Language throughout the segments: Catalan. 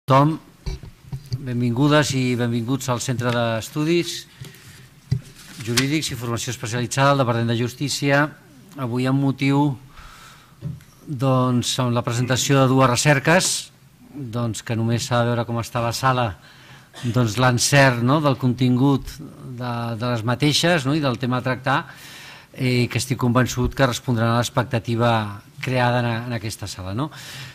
Tothom, benvingudes i benvinguts al Centre d'Estudis Jurídics i Formació Especialitzada del Departament de Justícia. Avui amb motiu amb la presentació de dues recerques, que només s'ha de veure com està la sala, l'encert del contingut de les mateixes i del tema a tractar, i que estic convençut que respondran a l'expectativa creada en aquesta sala.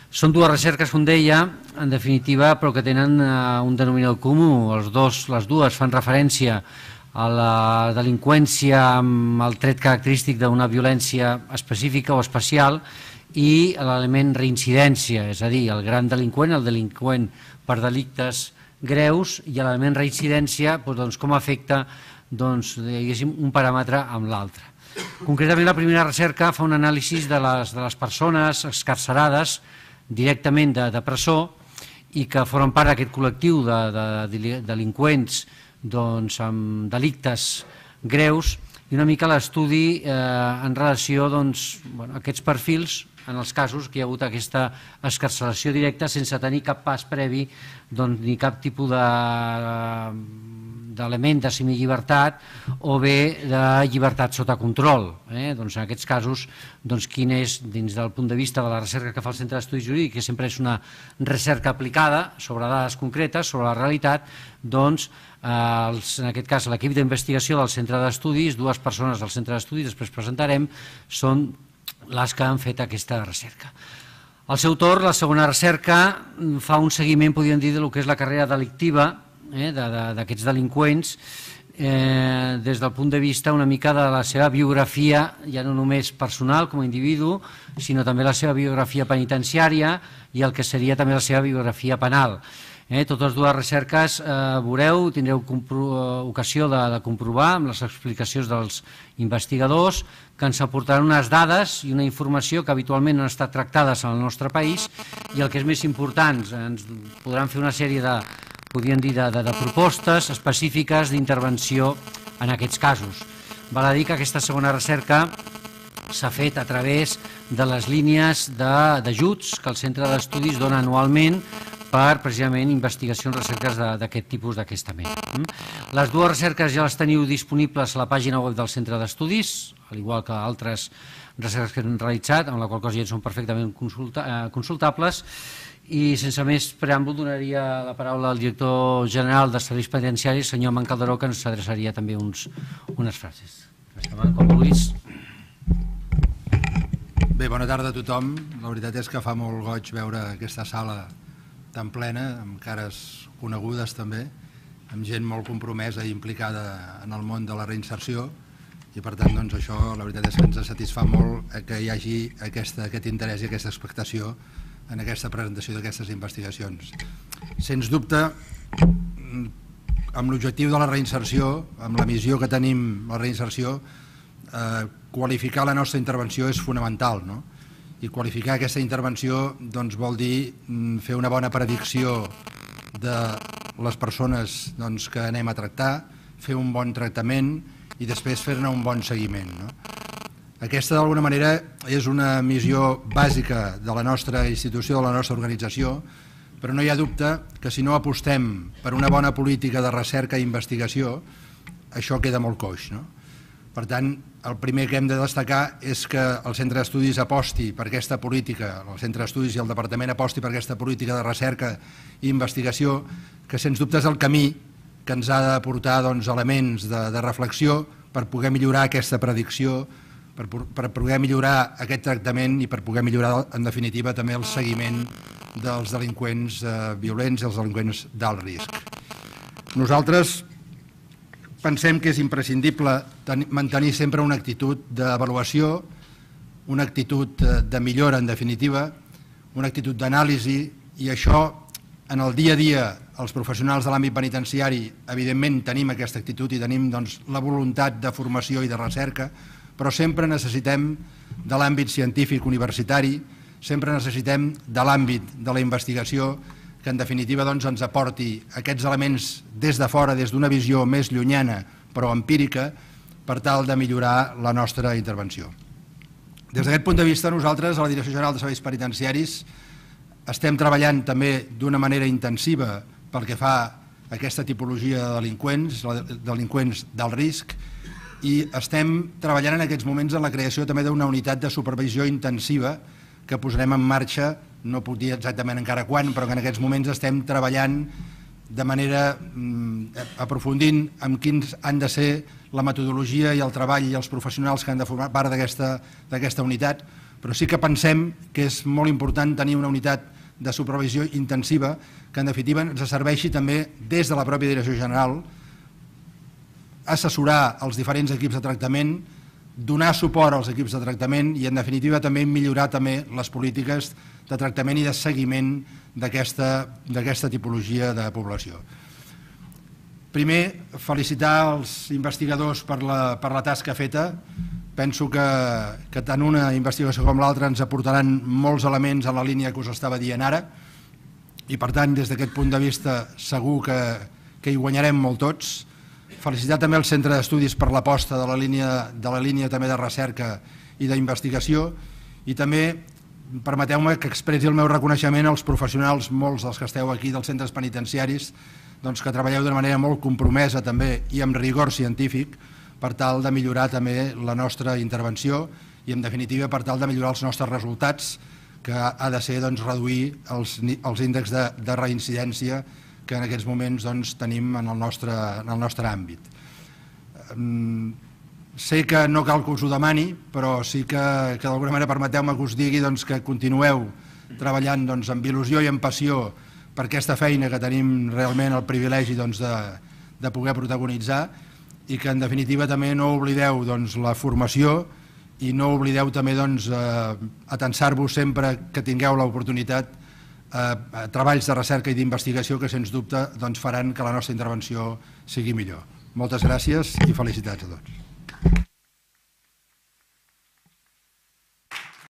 Són dues recerques, com deia, en definitiva, però que tenen un denominador comú. Les dues fan referència a la delinqüència amb el tret característic d'una violència específica o especial i l'element reincidència, és a dir, el gran delinqüent, el delinqüent per delictes greus, i l'element reincidència, com afecta un paràmetre amb l'altre. Concretament, la primera recerca fa un anàlisi de les persones excarcerades directament de presó i que formen part d'aquest col·lectiu de delinqüents amb delictes greus, i una mica l'estudi en relació a aquests perfils en els casos que hi ha hagut aquesta excarceració directa sense tenir cap pas previ ni cap tipus d'element de semillibertat o bé de llibertat sota control. En aquests casos, quin és, dins del punt de vista de la recerca que fa el Centre d'Estudis Jurídics, que sempre és una recerca aplicada sobre dades concretes, sobre la realitat, en aquest cas l'equip d'investigació del Centre d'Estudis, dues persones del Centre d'Estudis, després presentarem, són les que han fet aquesta recerca. Al seu torn, la segona recerca fa un seguiment, podríem dir, del que és la carrera delictiva d'aquests delinqüents des del punt de vista una mica de la seva biografia, ja no només personal com a individu, sinó també la seva biografia penitenciària i el que seria també la seva biografia penal. Totes dues recerques veureu, tindreu ocasió de comprovar amb les explicacions dels investigadors que ens aportaran unes dades i una informació que habitualment no han estat tractades en el nostre país, i el que és més important, ens podran fer una sèrie de propostes específiques d'intervenció en aquests casos. Val a dir que aquesta segona recerca s'ha fet a través de les línies d'ajuts que el Centre d'Estudis dona anualment per, precisament, investigacions, recerques d'aquest tipus, d'aquesta mena. Les dues recerques ja les teniu disponibles a la pàgina web del Centre d'Estudis, al igual que altres recerques que hem realitzat, amb la qual cosa ja són perfectament consultables, i sense més preàmbul donaria la paraula al director general de Serveis Penitenciaris, senyor Amant Calderó, que ens adreçaria també unes frases. Amant, com vulguis. Bé, bona tarda a tothom. La veritat és que fa molt goig veure aquesta sala tan plena, amb cares conegudes també, amb gent molt compromesa i implicada en el món de la reinserció, i per tant això la veritat és que ens satisfà molt que hi hagi aquest interès i aquesta expectació en aquesta presentació d'aquestes investigacions. Sens dubte, amb l'objectiu de la reinserció, amb la missió que tenim la reinserció, qualificar la nostra intervenció és fonamental, i qualificar aquesta intervenció vol dir fer una bona predicció de les persones que anem a tractar, fer un bon tractament i després fer-ne un bon seguiment. Aquesta, d'alguna manera, és una missió bàsica de la nostra institució, de la nostra organització, però no hi ha dubte que si no apostem per una bona política de recerca i investigació, això queda molt coix. Per tant, el primer que hem de destacar és que el Centre d'Estudis aposti per aquesta política, el Centre d'Estudis i el Departament aposti per aquesta política de recerca i investigació, que sens dubte és el camí que ens ha de portar elements de reflexió per poder millorar aquesta predicció, per poder millorar aquest tractament i per poder millorar, en definitiva, també el seguiment dels delinqüents violents i els delinqüents d'alt risc. Nosaltres pensem que és imprescindible mantenir sempre una actitud d'avaluació, una actitud de millora, en definitiva, una actitud d'anàlisi, i això, en el dia a dia, els professionals de l'àmbit penitenciari, evidentment, tenim aquesta actitud i tenim la voluntat de formació i de recerca, però sempre necessitem de l'àmbit científic universitari, sempre necessitem de l'àmbit de la investigació, que en definitiva ens aporti aquests elements des de fora, des d'una visió més llunyana però empírica, per tal de millorar la nostra intervenció. Des d'aquest punt de vista, nosaltres, a la Direcció General de Serveis Penitenciaris, Estem treballant també d'una manera intensiva pel que fa a aquesta tipologia de delinqüents d'alt risc, i estem treballant en aquests moments en la creació també d'una unitat de supervisió intensiva que posarem en marxa, no puc dir exactament encara quan, però que en aquests moments estem treballant de manera aprofundint en quins han de ser la metodologia i el treball i els professionals que han de formar part d'aquesta unitat, però sí que pensem que és molt important tenir una unitat de supervisió intensiva que en definitiva ens serveixi també des de la pròpia Direcció General assessorar els diferents equips de tractament, donar suport als equips de tractament i en definitiva també millorar també les polítiques de tractament i de seguiment d'aquesta tipologia de població. Primer, felicitar els investigadors per la tasca feta. Penso que tant una investigació com l'altra ens aportaran molts elements en la línia que us estava dient ara i per tant des d'aquest punt de vista segur que hi guanyarem molt tots. Felicitar també el Centre d'Estudis per l'aposta de la línia també de recerca i d'investigació i també permeteu-me que expressi el meu reconeixement als professionals, molts dels que esteu aquí dels centres penitenciaris, que treballeu d'una manera molt compromesa també i amb rigor científic per tal de millorar també la nostra intervenció i en definitiva per tal de millorar els nostres resultats, que ha de ser reduir els índexs de reincidència que en aquests moments tenim en el nostre àmbit. Sé que no cal que us ho demani, però sí que d'alguna manera permeteu-me que us digui que continueu treballant amb il·lusió i amb passió per aquesta feina que tenim realment el privilegi de poder protagonitzar i que en definitiva també no oblideu la formació i no oblideu també atensar-vos sempre que tingueu l'oportunitat a treballs de recerca i d'investigació que sens dubte faran que la nostra intervenció sigui millor. Moltes gràcies i felicitats a tots.